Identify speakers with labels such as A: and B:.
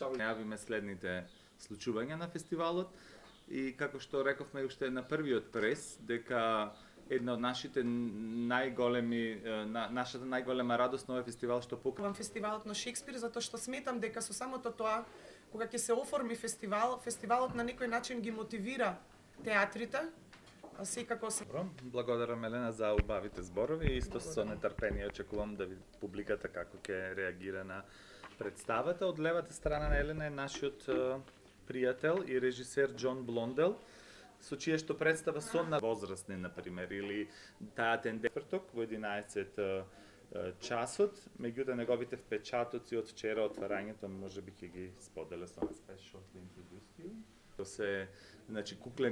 A: Најавиме следните случувања на фестивалот и како што рековме уште на првиот прес, дека една од нашата најголема радост на овој фестивал што покрива
B: фестивалот на Шекспир, затоа што сметам дека со самото тоа, кога ќе се оформи фестивалот на некој начин ги мотивира театрите. Секако се.
A: Благодарам Елена за убавите зборови и исто со нетрпение очекувам да види публиката како ќе реагира на представата. Од левата страна на Елена е нашиот пријател и режисер Џон Блондел, со чија што представа со на возрастни, например, или таа тенденция во 11 часот, меѓутоа неговите впечатоци од вчера отварањето можеби ќе ги споделя со нас. Се, значи, куклен